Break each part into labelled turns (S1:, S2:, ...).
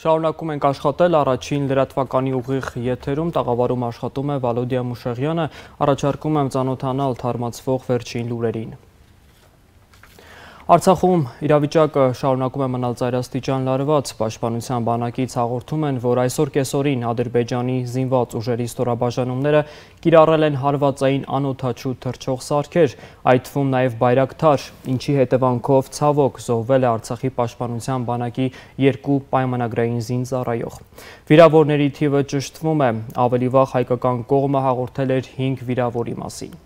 S1: Շարունակում ենք աշխատել առաջին լրատվականի ուղիղ եթերում, տաղավարում աշխատում է Վալոդիա Մուշեղյանը, առաջարկում եմ ծանոթանալ թարմացվող վերջին լուրերին։ Արցախում իրավիճակը շարունակում է մնալ ծայրաստիճան լարված, Պաշտպանության բանակից հաղորդում են, որ այսօր կեսօրին Ադրբեջանի զինված ուժերի ստորաբաժանումները կիրառել են հարվածային անօդաչու թռչող սարքեր, այդ թվում նաև Բայրակթար, ինչի հետևանքով ցավոք զոհվել է Արցախի Պաշտպանության բանակի 2 պայմանագրային զինծառայող։ Վիրավորների թիվը ճշտվում է, ավելի վաղ հայկական կողմը հաղորդել էր 5 վիրավորի մասին։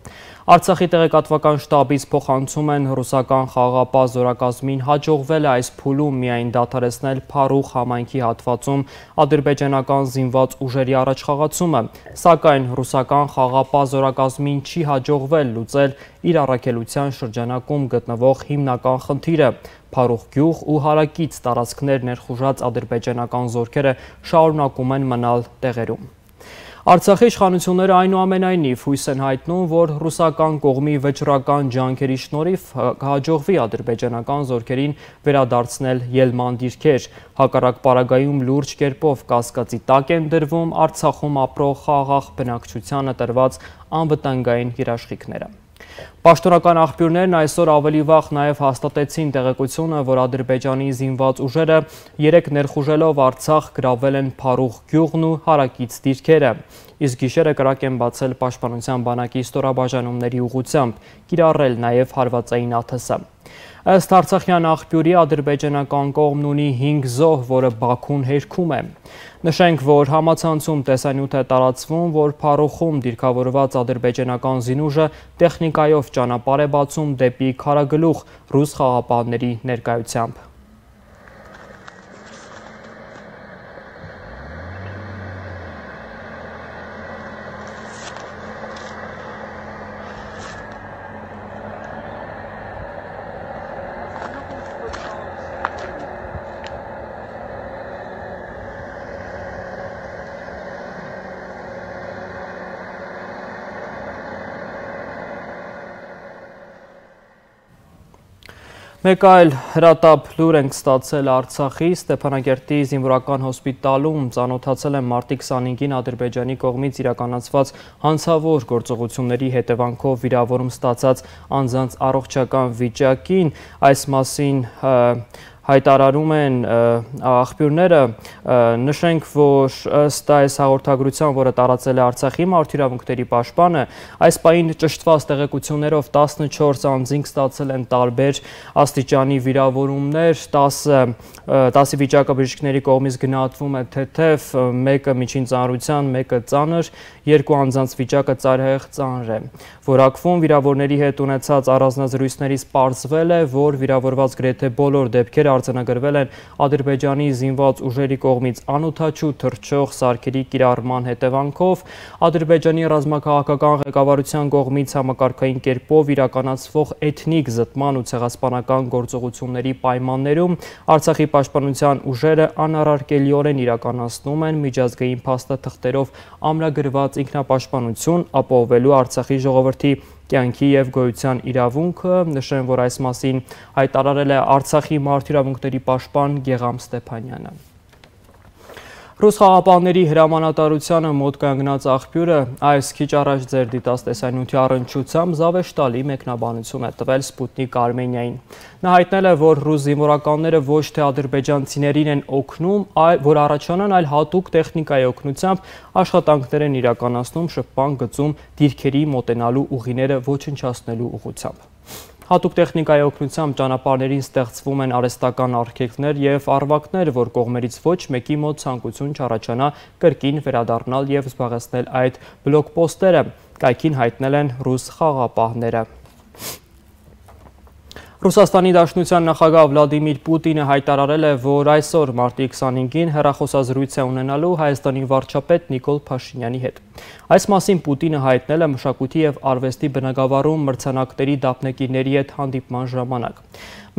S1: Արցախի տեղեկատվական շտաբից փոխանցում են ռուսական խաղաղապահ զորակազմին հաջողվել է այս փուլում միայն դադարեցնել Փարուխ համայնքի հատվածում ադրբեջանական զինված ուժերի առաջխաղացումը, սակայն ռուսական խաղաղապահ զորակազմին չի հաջողվել լուծել իր առաքելության շրջանակում գտնվող հիմնական խնդիրը։ Փարուխ գյուղ ու հարակից տարածքներ ներխուժած ադրբեջանական զորքերը շարունակում են մնալ տեղերում։ Արցախի իշխանությունները այնուամենայնիվ հույս են հայտնում, որ ռուսական կողմի վճռական ջանքերի շնորհիվ կհաջողվի ադրբեջանական զորքերին վերադարձնել ելման դիրքեր, հակառակ պարագայում լուրջ կերպով կասկածի տակ են դրվում Արցախում ապրող խաղաղ բնակչությանը տրված անվտանգային երաշխիքները։ Պաշտոնական աղբյուրներն այսօր ավելի վաղ նաև հաստատեցին տեղեկությունը, որ Ադրբեջանի զինված ուժերը 3 ներխուժելով Արցախ գրավել են Փարուխ գյուղն ու հարակից դիրքերը, իսկ գիշերը կրակ են բացել Պաշտպանության բանակի ստորաբաժանումների ուղղությամբ, կիրառել նաև հարվածային ԱԹՍ։ Ըստ արցախյան աղբյուրի ադրբեջանական կողմն ունի 5 զոհ, որը Բաքուն հերքում է։ Նշենք, որ համացանցում տեսանյութ է տարածվում, որ Փարուխում դիրքավորված ադրբեջանական զինուժը տեխնիկայով ճանապարհ է բացում դեպի Քարագլուխ ռուս խաղաղապահների ներկայությամբ։ Մեկ այլ հրատապ լուր ենք ստացել Արցախի Ստեփանագերտի զինվորական հոսպիտալում ծանոթացել են մարտի 25-ին Ադրբեջանի կողմից իրականացված հանցավոր գործողությունների հետևանքով վիրավորում ստացած անձանց առողջական վիճակին, այս մասին հայտարարում են աղբյուրները, նշենք, որ ըստ այս հաղորդագրության, որը տարածել է Արցախի մարդու պաշտպանը, այս պահին ճշտված տեղեկություններով 14 անձինք ստացել են տարբեր աստիճանի վիրավորումներ, 10-ի վիճակը բժիշկների կողմից գնահատվում է թեթև, մեկը միջին ծանրության, մեկը ծանր, 2 անձանց վիճակը ծայրահեղ ծանր է։ Որակվում վիրավորների հետ ունեցած առանձնազրույցներից պարզվել է, որ վիրավորված գրեթե բոլոր դեպքերը արձանագրվել են Ադրբեջանի զինված ուժերի կողմից անօդաչու թռչող սարքերի կիրառման հետևանքով, Ադրբեջանի ռազմաքաղաքական ղեկավարության կողմից համակարգային կերպով իրականացվող էթնիկ զտման ու ցեղասպանական գործողությունների պայմաններում Արցախի պաշտպանության ուժերը անառարկելիորեն իրականացնում են միջազգային փաստաթղթերով ամրագրված ինքնապաշտպանություն, ապահովելու Արցախի ժողովրդի կյանքի և գոյության իրավունքը, նշեմ, որ այս մասին հայտարարել է Արցախի մարդու իրավունքների պաշտպան Գեղամ Ստեփանյանը։ Ռուս խաղաղապահների հրամանատարությանը մոտ կանգնած աղբյուրը այս քիչ առաջ ձեր դիտած տեսանյութի առնչությամբ զավեշտալի մեկնաբանություն է տվել Սպուտնիկ Արմենիային։ Նա հայտնել է, որ ռուս զինվորականները ոչ թե ադրբեջանցիներին են օգնում, որ առաջանան, այլ հատուկ տեխնիկայի օգնությամբ աշխատանքներ են իրականացնում շփման գծում դիրքերի մոտենալու ուղիները ոչնչացնելու ուղղությամբ։ Հատուկ տեխնիկայի օգնությամբ ճանապարհներին ստեղծվում են արհեստական արգելքներ և առվակներ, որ կողմերից ոչ մեկի մոտ ցանկություն չառաջանա կրկին վերադառնալ և զբաղեցնել այդ բլոկպոստերը, կայքին հայտնել են ռուս խաղաղապահները։ Ռուսաստանի Դաշնության նախագահ Վլադիմիր Պուտինը հայտարարել է, որ այսօր մարտի 25-ին հեռախոսազրույց է ունենալու Հայաստանի վարչապետ Նիկոլ Փաշինյանի հետ։ Այս մասին Պուտինը հայտնել է մշակույթի և արվեստի բնագավառում մրցանակների դափնեկիրների հետ հանդիպման ժամանակ։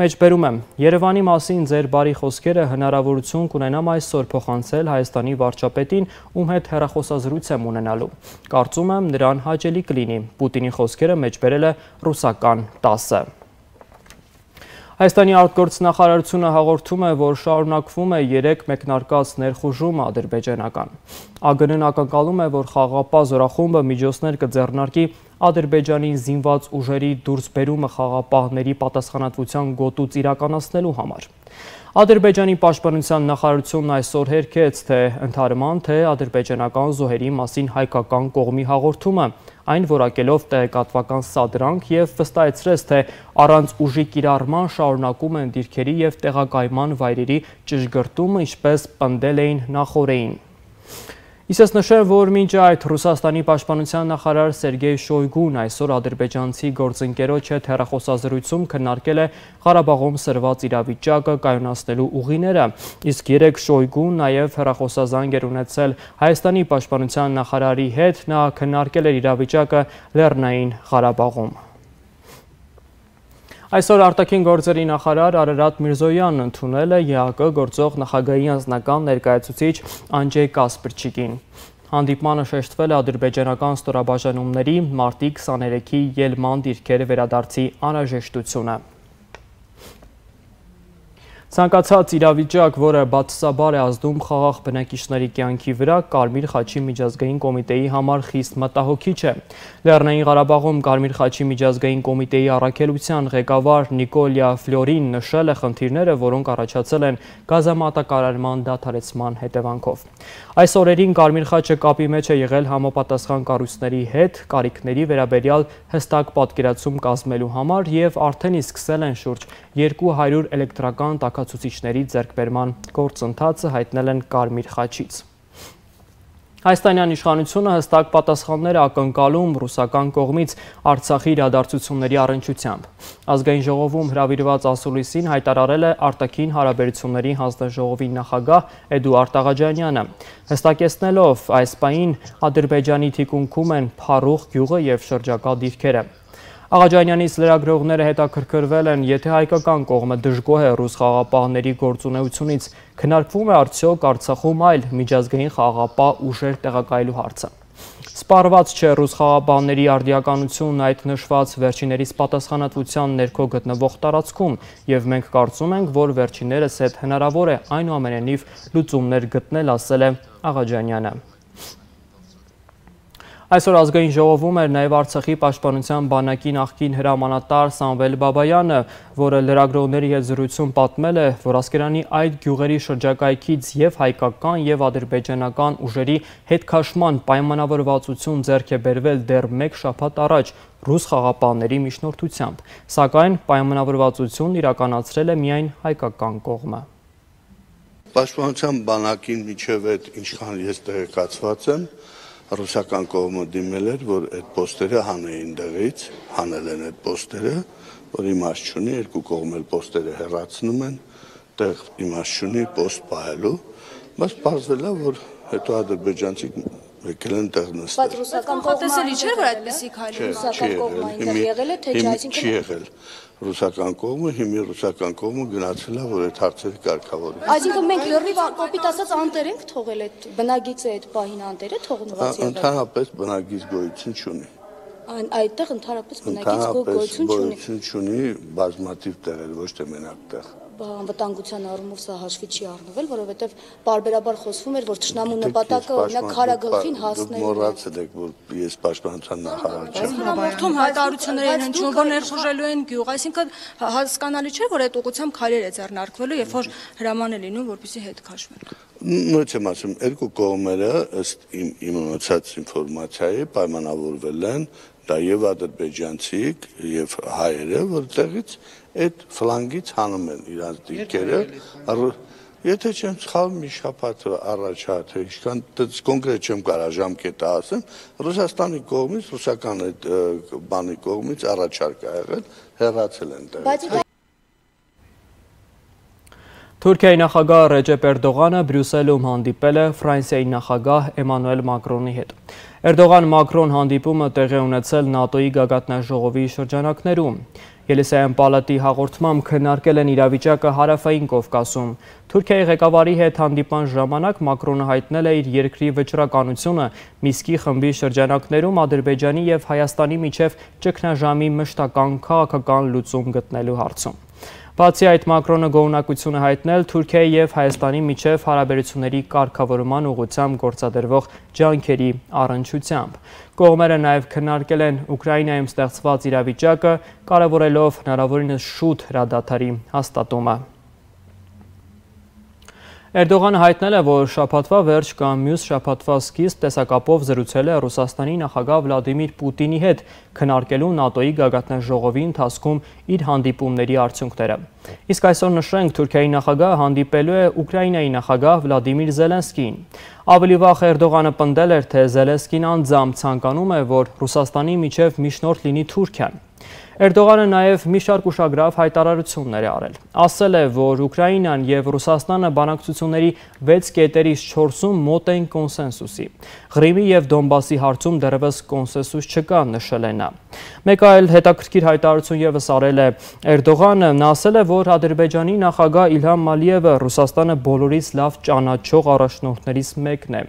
S1: Մեջբերում եմ, Երևանի մասին ձեր բարի խոսքերը հնարավորություն կունենամ այսօր փոխանցել Հայաստանի վարչապետին, ում հետ հեռախոսազրույց եմ ունենալու։ Կարծում եմ նրան հաճելի կլինի։ Պուտինի խոսքերը մեջբերել է ռուսական ՏԱՍ-ը։ Հայաստանի արտգործնախարարությունը հաղորդում է, որ շարունակվում է 3 մեկնարկած ներխուժումը ադրբեջանական։ ԱԳՆ-ն ակնկալում է, որ խաղաղապահ զորախումբը միջոցներ կձեռնարկի Ադրբեջանի զինված ուժերի դուրսբերումը խաղաղապահների պատասխանատվության գոտուց իրականացնելու համար։ Ադրբեջանի պաշտպանության նախարարությունն այսօր հերքեց թե ընդհարման, թե ադրբեջանական զոհերի մասին հայկական կողմի հաղորդումը, այն որակելով տեղեկատվական սադրանք և վստահեցրեց, թե առանց ուժի կիրառման շարունակում են դիրքերի և տեղակայման վայրերի ճշգրտումը, ինչպես պնդել էին նախօրեին։ Իսկ նշեմ, որ մինչ այդ Ռուսաստանի պաշտպանության նախարար Սերգեյ Շոյգուն այսօր ադրբեջանցի գործընկերոջ հետ հեռախոսազրույցում քննարկել է Ղարաբաղում սրված իրավիճակը կայունացնելու ուղիները, իսկ երեկ Շոյգուն նաև հեռախոսազանգ էր ունեցել Հայաստանի պաշտպանության նախարարի հետ, նա քննարկել էր իրավիճակը Լեռնային Ղարաբաղում։ Այսօր արտաքին գործերի նախարար Արարատ Միրզոյանն ընդունել է ԵԱԿ գործող նախագահի անձնական ներկայացուցիչ Անջեյ Կասպրչիկին։ Հանդիպմանը շեշտվել է ադրբեջանական ստորաբաժանումների մարտի 23-ի ելման դիրքերը վերադարձի անհրաժեշտությունը։ Ցանկացած իրավիճակ, որը բացասաբար է ազդում խաղաղ բնակիչների կյանքի վրա, Կարմիր խաչի միջազգային կոմիտեի համար խիստ մտահոգիչ է։ Լեռնային Ղարաբաղում Կարմիր խաչի միջազգային կոմիտեի առաքելության ղեկավար Նիկոլյա Ֆլյորին նշել է խնդիրները, որոնք առաջացել են գազամատակարարման դադարեցման հետևանքով։ Այս օրերին Կարմիր խաչը կապի մեջ է եղել համապատասխան կառույցների հետ կարիքների վերաբերյալ հստակ պատկերացում կազմելու համար և արդեն իսկ սկսել են շուրջ 200 էլեկտրական տաքացուցիչների ձեռքբերման գործընթացը, հայտնել են Կարմիր խաչից։ Հայաստանյան իշխանությունը հստակ պատասխաններ է ակնկալում ռուսական կողմից Արցախի իրադարձությունների առնչությամբ։ Ազգային ժողովում հրավիրված ասուլիսին հայտարարել է արտաքին հարաբերությունների հանձնաժողովի նախագահ Էդուարդ Աղաջանյանը, հստակեցնելով այս պահին Ադրբեջանի թիկունքում են Փարուխ գյուղը և շրջակա դիրքերը։ Աղաջանյանից լրագրողները հետաքրքրվել են, եթե հայկական կողմը դժգոհ է ռուս խաղաղապահների գործունեությունից, քննարկվում է արդյոք Արցախում այլ միջազգային խաղաղապահ ուժեր տեղակայելու հարցը։ Սպառված չէ ռուս խաղաղապահների արդիականությունն այդ նշված վերջիներիս պատասխանատվության ներքո գտնվող տարածքում, և մենք կարծում ենք, որ վերջիներս հետ հնարավոր է այնուամենայնիվ լուծումներ գտնել, ասել է Աղաջանյանը։ Այսօր ազգային ժողովում էր նաև Արցախի պաշտպանության բանակի նախկին հրամանատար Սամվել Բաբայանը, որը լրագրողների հետ զրույցում պատմել է, որ Ասկերանի այդ գյուղերի շրջակայքից և հայկական և ադրբեջանական ուժերի հետքաշման պայմանավորվածություն ձեռք է բերվել դեռ 1 շաբաթ առաջ ռուս խաղաղապահների միջնորդությամբ, սակայն պայմանավորվածությունն իրականացրել է միայն հայկական կողմը։
S2: Պաշտպանության բանակին միջև այդ ինչքան ես տեղեկացված եմ, ռուսական կողմը դիմել էր, որ այդ պոստերը հանեին դեղից, հանել են այդ պոստերը, որ իմաստ չունի, երկու կողմ էլ պոստերը հեռացնում են, տեղ իմաստ չունի պոստ պահելու, բայց պարզվել է, որ հետո ադրբեջանցիք եկել են տեղ նստել։
S3: Բայց ռուսական կողմը չէր, որ այդպեսի քայլ ռուսական կողմը այնտեղ եղել է, թե չէ, այսինքն
S2: չի եղել ռուսական կողմը, հիմա ռուսական կողմը գնացել է, որ այդ հարցերը կարգավորի։
S3: Այսինքն մենք լրիվ կոպիտ ասած անտեր ենք թողել այդ բնագիծը, այդ պահին անտերը թողնված եղել։
S2: Ընդհանրապես բնագիծ գոյություն չունի։
S3: Այդտեղ ընդհանրապես բնագիծ գոյություն
S2: չունի, բազմաթիվ տեղեր, ոչ թե մենակ տեղ։
S3: Անվտանգության առումով սա հաշվի չի առնվել, որովհետև պարբերաբար խոսվում էր, որ թշնամու նպատակը օրինակ Քարագլխին հասնելն է։
S2: Մոռացել եք, որ ես պաշտպանության նախարար չեմ։
S3: Հաղորդում հայտարարություններ են հնչում, որ ներխուժելու են գյուղ, այսինքն հասկանալի չէ, որ այդ ուղղությամբ քայլեր է ձեռնարկվելու, երբ որ հրաման է լինում, որպեսզի հետ քաշվեն։
S2: Նույնպես եմ ասում, երկու կողմերը ըստ իմ ունեցած ինֆորմացիայի պայմանավորվել են, դա եւ ադրբեջանցիք եւ հայերը, որտեղից այդ ֆլանգից հանում են իրանց դիրքերը, եթե չեմ սխալվում, մի շաբաթ առաջ թե ինչքան կոնկրետ չեմ կարող ժամկետը ասեմ, Ռուսաստանի կողմից, ռուսական այդ բանի կողմից առաջարկ ա եղել, հեռացել են տեղից։
S1: Թուրքիայի նախագահ Ռեջեփ Էրդողանը Բրյուսելում հանդիպել է Ֆրանսիայի նախագահ Էմանուել Մակրոնի հետ։ Էրդողան-Մակրոն հանդիպումը տեղի է ունեցել ՆԱՏՕ-ի գագաթնաժողովի շրջանակներում։ Ելիսեյան պալատի հաղորդմամբ քննարկել են իրավիճակը Հարավային Կովկասում։ Թուրքիայի ղեկավարի հետ հանդիպման ժամանակ Մակրոնը հայտնել է իր երկրի վճռականությունը Միսկի խմբի շրջանակներում Ադրբեջանի և Հայաստանի միջև ճգնաժամի մշտական քաղաքական լուծում գտնելու հարցում։ Բացի այդ, Մակրոնը գոհունակություն է հայտնել Թուրքիայի և Հայաստանի միջև հարաբերությունների կարգավորման ուղղությամբ գործադրվող ջանքերի առնչությամբ։ Կողմերը նաև քննարկել են Ուկրաինայում ստեղծված իրավիճակը, կարևորելով հնարավորինս շուտ հրադադարի հաստատումը։ Էրդողանը հայտնել է, որ շաբաթվա վերջ կամ մյուս շաբաթվա սկիզբ տեսակապով զրուցել է Ռուսաստանի նախագահ Վլադիմիր Պուտինի հետ, քննարկելու ՆԱՏՕ-ի գագաթնաժողովի ընթացքում իր հանդիպումների արդյունքները։ Իսկ այսօր նշենք, Թուրքիայի նախագահը հանդիպելու է Ուկրաինայի նախագահ Վլադիմիր Զելենսկիին։ Ավելի վաղ Էրդողանը պնդել էր, թե Զելենսկին անձամբ ցանկանում է, որ Ռուսաստանի միջև միջնորդ լինի Թուրքիան։ Էրդողանը նաև մի շարք ուշագրավ հայտարարություններ է արել։ Ասել է, որ Ուկրաինան և Ռուսաստանը բանակցությունների 6 կետերից 4-ում մոտ են կոնսենսուսի։ Ղրիմի և Դոնբասի հարցում դեռևս կոնսենսուս չկա, նշել է նա։ Մեկ այլ հետաքրքիր հայտարարություն ևս արել է Էրդողանը, նա ասել է, որ Ադրբեջանի նախագահ Իլհամ Ալիևը Ռուսաստանը բոլորից լավ ճանաչող առաջնորդներից մեկն է։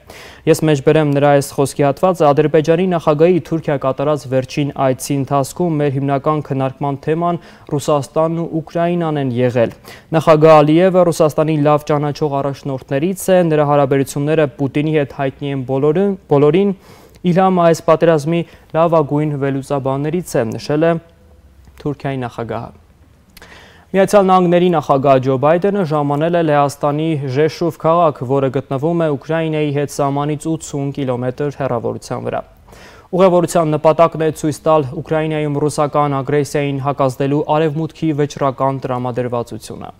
S1: Ես մեջբերեմ նրա այս խոսքի հատվածը, Ադրբեջանի նախագահի Թուրքիա կատարած վերջին այցի ընթացքում մեր հիմնական քննարկման թեման Ռուսաստանն ու Ուկրաինան են եղել։ Նախագահ Ալիևը Ռուսաստանի լավ ճանաչող առաջնորդներից է, նրա հարաբերությունները Պուտինի հետ հայտնի են բոլորին, Իլհամը այս պատերազմի լավագույն վերլուծաբաններից է, նշել է Թուրքիայի նախագահը։ Միացյալ Նահանգների նախագահ Ջո Բայդենը ժամանել է Լեհաստանի Ժեշուվ քաղաք, որը գտնվում է Ուկրաինայի հետ սահմանից 80 կիլոմետր հեռավորության վրա։ Ուղևորության նպատակն է ցույց տալ Ուկրաինայում ռուսական ագրեսիային հակազդելու արևմուտքի վճռական տրամադրվածությունը։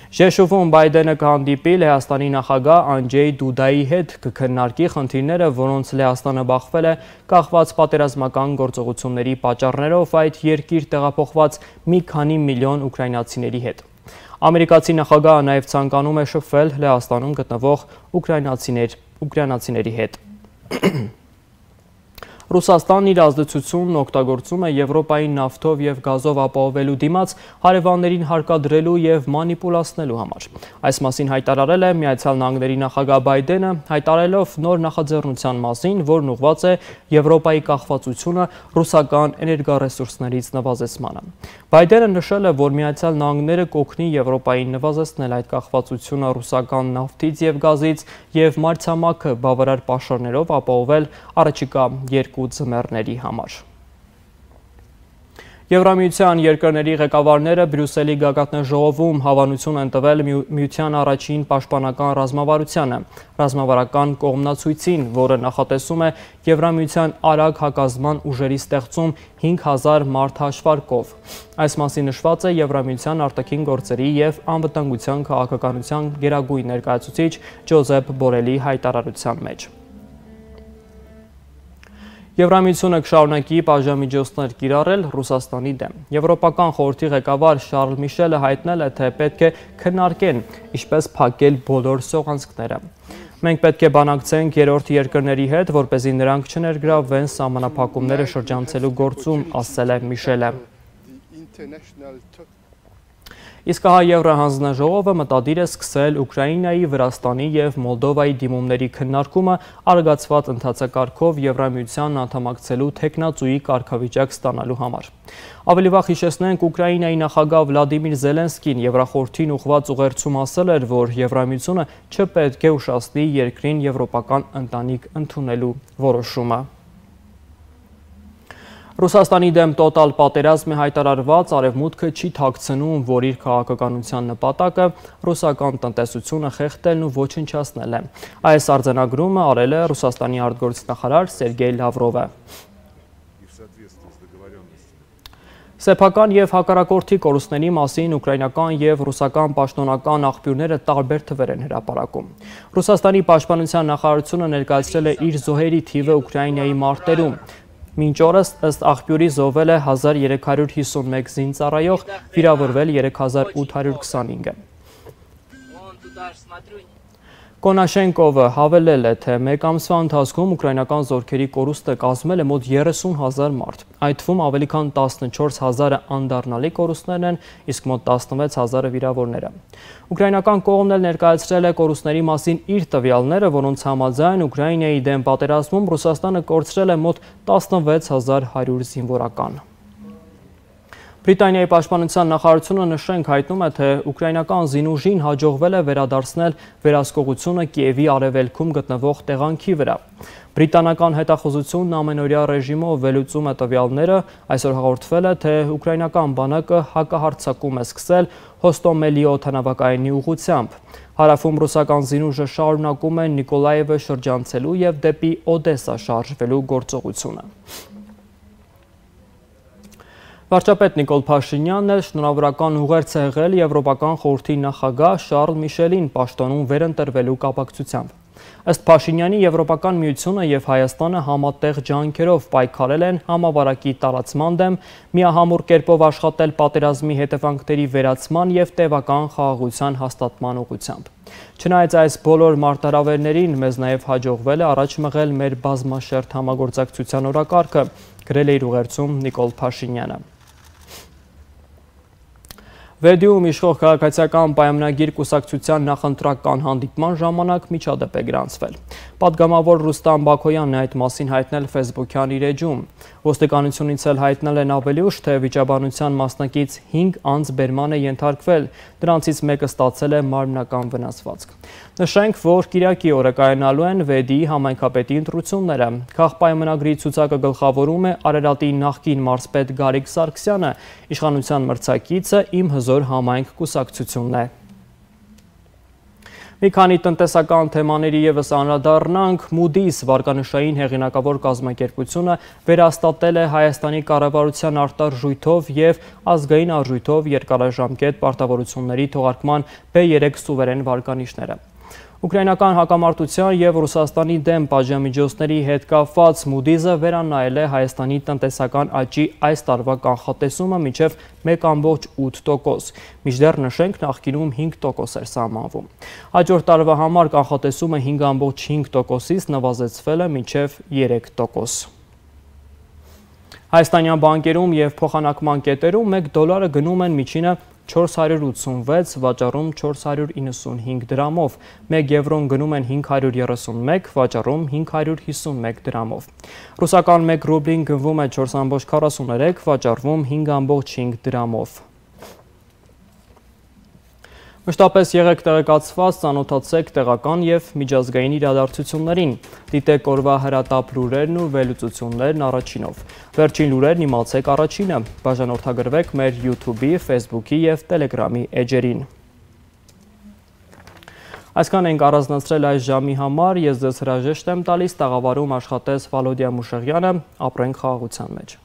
S1: Ժեշուվում Բայդենը կհանդիպի Լեհաստանի նախագահ Անջեյ Դուդայի հետ, կքննարկի խնդիրները, որոնց Լեհաստանը բախվել է կախված պատերազմական գործողությունների պատճառներով այդ երկիր տեղափոխված մի քանի միլիոն ուկրաինացիների հետ։ Ամերիկացի նախագահը նաև ցանկանում է շփվել Լեհաստանում գտնվող ուկրաինացիների հետ։ Ռուսաստանն իր ազդեցությունն օգտագործում է Եվրոպայի նավթով և գազով ապահովելու դիմաց հարևաններին հարկադրելու և մանիպուլացնելու համար։ Այս մասին հայտարարել է Միացյալ Նահանգների նախագահ Բայդենը, հայտարարելով նոր նախաձեռնության մասին, որն ուղղված է Եվրոպայի կախվածությունը ռուսական էներգառեսուրսներից նվազեցմանը։ Բայդենը նշել է, որ Միացյալ Նահանգները կօգնի Եվրոպային նվազեցնել այդ կախվածությունը ռուսական նավթից և գազից և մայրցամաքը բավարար պաշարներով ապահովել առաջիկա 2 ձմեռների համար։ Եվրամիության երկրների ղեկավարները Բրյուսելի գագաթնաժողովում հավանություն են տվել միության առաջին պաշտպանական ռազմավարությանը, ռազմավարական կողմնացույցին, որը նախատեսում է Եվրամիության արագ հակազդման ուժերի ստեղծում 5000 մարդ հաշվարկով։ Այս մասին նշված է Եվրամիության արտաքին գործերի և անվտանգության քաղաքականության գերագույն ներկայացուցիչ Ջոզեփ Բորելի հայտարարության մեջ։ Եվրամիությունը կշարունակի պատժամիջոցներ կիրառել Ռուսաստանի դեմ։ Եվրոպական խորհրդի ղեկավար Շարլ Միշելը հայտնել է, թե պետք է քննարկեն ինչպես փակել բոլոր սողանցքները։ Մենք պետք է բանակցենք երրորդ երկրների հետ, որպեսզի նրանք չներգրավվեն սահմանափակումները շրջանցելու գործում, ասել է Միշելը։ Իսկ հա Եվրահանձնաժողովը մտադիր է սկսել Ուկրաինայի, Վրաստանի և Մոլդովայի դիմումների քննարկումը արագացված ընթացակարգով Եվրամիությանն անդամակցելու թեկնածուի կարգավիճակ ստանալու համար։ Ավելի վաղ հիշեցնենք, Ուկրաինայի նախագահ Վլադիմիր Զելենսկին Եվրախորհրդին ուղղված ուղերձում ասել էր, որ Եվրամիությունը չպետք է ուշացնի երկրին եվրոպական ընտանիք ընդունելու որոշումը։ Ռուսաստանի դեմ տոտալ պատերազմ է հայտարարված, Արևմուտքը չի թաքցնում, որ իր քաղաքականության նպատակը ռուսական տնտեսությունը խեղդելն ու ոչնչացնելն է։ Այս արձանագրումը արել է Ռուսաստանի արտգործնախարար Սերգեյ Լավրովը։ Սեփական և հակառակորդի կորուստների մասին ուկրաինական և ռուսական պաշտոնական աղբյուրները տարբեր թվեր են հրապարակում։ Ռուսաստանի պաշտպանության նախարարությունը ներկայացրել է իր զոհերի թիվը Ուկրաինայի մարտերում։ Մինչ օրս ըստ աղբյուրի զոհվել է 1351 զինծառայող, վիրավորվել 3825-ը։ Կոնաշենկովը հավելել է, թե մեկ ամսվա ընթացքում ուկրաինական զորքերի կորուստը կազմել է մոտ 30,000 մարդ, այդ թվում ավելի քան 14,000-ը անդառնալի կորուստներն են, իսկ մոտ 16,000-ը վիրավորները։ Ուկրաինական կողմն էլ ներկայացրել է կորուստների մասին իր տվյալները, որոնց համաձայն Ուկրաինայի դեմ պատերազմում Ռուսաստանը կորցրել է մոտ 16100 զինվորական։ Բրիտանիայի պաշտպանության նախարարությունը նշենք հայտնում է, թե ուկրաինական զինուժին հաջողվել է վերադարձնել վերահսկողությունը Կիևի արևելքում գտնվող տեղանքի վրա։ Բրիտանական հետախուզությունն ամենօրյա ռեժիմով վերլուծում է տվյալները, այսօր հաղորդվել է, թե ուկրաինական բանակը հակահարձակում է սկսել Հոստոմելի օդանավակայանի ուղղությամբ։ Հարավում ռուսական զինուժը շարունակում է Նիկոլաևը շրջանցելու եւ դեպի Օդեսա շարժվելու գործողությունը։ Վարչապետ Նիկոլ Փաշինյանն էլ շնորհավորական ուղերձ է եղել Եվրոպական խորհրդի նախագահ Շարլ Միշելին պաշտոնում վերընտրվելու կապակցությամբ։ Ըստ Փաշինյանի, Եվրոպական միությունը եւ Հայաստանը համատեղ ջանքերով պայքարել են համավարակի տարածման դեմ, միահամուռ կերպով աշխատել պատերազմի հետևանքների վերացման եւ տևական խաղաղության հաստատման ուղղությամբ։ Չնայած այս բոլոր մարտահրավերներին, մեզ նաեւ հաջողվել է առաջ մղել մեր բազմաշերտ համագործակցության օրակարգը, գրել է իր ուղերձում Նիկոլ Փաշինյանը։ Վերդիում իշխող քաղաքացիական պայմանագիր կուսակցության նախընտրական հանդիպման ժամանակ միջադեպ է գրանցվել։ Պատգամավոր Ռուստամ Բաքոյանն է այդ մասին հայտնել Facebook-յան իր էջում։ Ոստիկանությունից էլ հայտնել են ավելի ուշ, թե վիճաբանության մասնակից 5 անձ բերման է ենթարկվել, դրանցից մեկը ստացել է մարմնական վնասվածք։ Նշենք, որ Կիրակի օրը կայանալու են Վեդիի համայնքապետի ընտրությունները։ Քաղաքապայմանագրի ցուցակը գլխավորում է Արարատի նախկին մարզպետ Գարիկ Սարգսյանը, իշխանության մրցակիցը Իմ հզոր համայնք կուսակցությունն է։ Մի քանի տնտեսական թեմաների ևս անդրադառնանք, Moody's վարկանշային հեղինակավոր կազմակերպությունը վերահաստատել է Հայաստանի կառավարության արտարժույթով եւ ազգային արժույթով երկարաժամկետ պարտավորությունների թողարկման B3 սուվերեն վարկանիշները։ Ուկրաինական հակամարտության եւ Ռուսաստանի դեմ պատժամիջոցների հետ կապված Moody's-ը վերանայել է Հայաստանի տնտեսական աճի այս տարվա կանխատեսումը մինչեւ 1.8%, մինչդեռ նշենք նախկինում 5% էր սահմանվում։ Հաջորդ տարվա համար կանխատեսումը 5.5%-ից նվազեցվել է մինչեւ 3%։ Հայաստանյան բանկերում եւ փոխանակման կետերում $1 գնում են միջինը 486, վաճառում 495 դրամով, 1 եվրոն գնում են 531, վաճառում 551 դրամով։ Ռուսական 1 ռուբլին գնվում է 4.43, վաճառվում 5.5 դրամով։ Մշտապես եղեք տեղեկացված, ծանոթացեք տեղական եւ միջազգային իրադարձություններին, դիտեք օրվա հրատապ լուրերն ու վերլուծություններն առաջինով։ Վերջին լուրերն իմացեք առաջինը, բաժանորդագրվեք մեր YouTube-ի, Facebook-ի եւ Telegram-ի էջերին։ Այսքան ենք առանձնացրել այս ժամի համար, ես ձեզ հրաժեշտ եմ տալիս, տաղավարում աշխատեց Վալոդիա Մուշեղյանը, ապրենք խաղաղության մեջ։